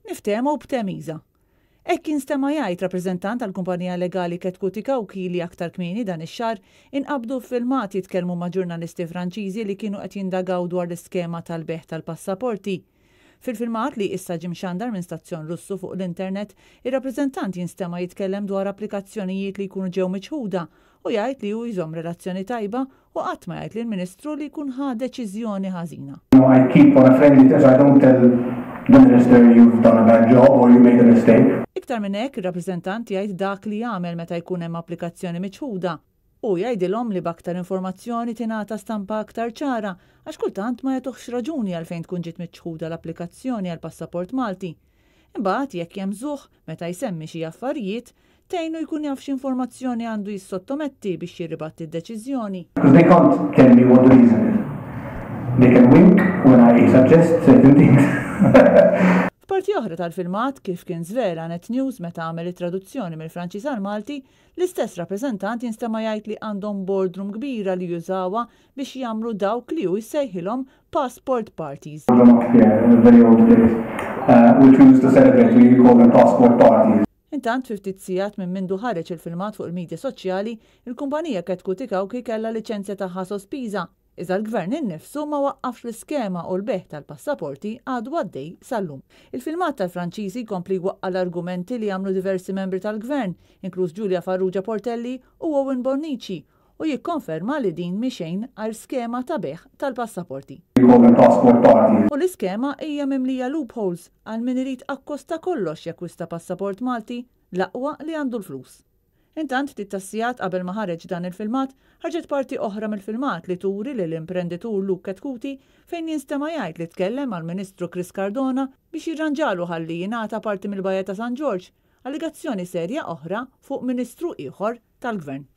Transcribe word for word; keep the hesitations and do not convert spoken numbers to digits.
Niftehmu b'temiża. Hekk kien stema jgħid rappreżentant tal-kumpanija legali Chetcuti Cauchi li aktar kmieni dan ix-xahar inqabdu filmat jitkellmu ma' ġurnalisti Franċiżi li kienu qed jindagaw dwar l-iskema tal-bejgħ tal-passaporti. Fil-filmat li issa ġie mxandar minn stazzjon Russu fuq l-internet, ir-rappreżentant jinstema jitkellem dwar applikazzjonijiet li jkunu ġew miċħuda u jgħid li hu jżomm relazzjoni tajba u qatt ma jgħid lill-Ministru li jkun ħa deċiżjoni ħażina. I keep on a friendly terms. I don't tell the minister you've done a bad job or you made a mistake. Iktar minn hekk, ir-rappreżentant jgħid dak li jagħmel meta jkun hemm applikazzjoni miċħuda u jgħidilhom li b'aktar informazzjoni tingħata stampa aktar ċara għax kultant ma jagħtuhx raġuni għalfejn tkun ġiet miċħuda l-applikazzjoni għal passaport Malti. Imbagħad jekk jemżuh meta jsemmi xi affarijiet, tgħinu jkun jaf x'informazzjoni għandu jissottometti biex jirribatti d-deċiżjoni. Because they can't tell me what the reason is. They can wink when I suggest certain things. F'parti oħra tal-filmat kif kien żvela Net News meta għamel it-traduzzjoni mill-Franċiż għal Malti, l-istess rappreżentant jinstema' jgħid li għandhom boardroom kbira li jużawha biex jagħmlu dawk li hu jsejħilhom passport parties. very old place, uh, which we used to celebrate, we call them passport parties. Intant fi ftit sigħat minn mindu ħareġ il-filmat fuq il-medja soċjali, il-kumpanija Chetcuti Cauchi kellha liċenzja tagħha sospiża. Iżda l-gvern innifsu ma waqqafx l-iskema u l-bejgħ tal-passaporti għadu għaddej sal-lum. Il-filmat tal-Franċiżi kompli waqqa l-argumenti li għamlu diversi membri tal-gvern, inkluż Julia Farrugia Portelli u Owen Bonnici, u jikkonferma li din mhi xejn għajr skema ta' bejgħ tal-passaporti. We call them passport parties. U l-iskema hija mimlija loopholes għal min irid akkost ta' kollox jakkwista passaport Malti l-aqwa li għandu l-flus. Intant ftit tas-sigħat qabel ma ħareġ dan il-filmat, ħarġet parti oħra mill-filmat li turi li l-imprenditur Luke Chetcuti fejn jinstema' jgħid li tkellem mal-Ministru Chris Cardona biex jirranġalu ħalli jingħata parti mill-Bajja ta' San Ġorġ, allegazzjoni serja oħra fuq ministru ieħor tal-gvern.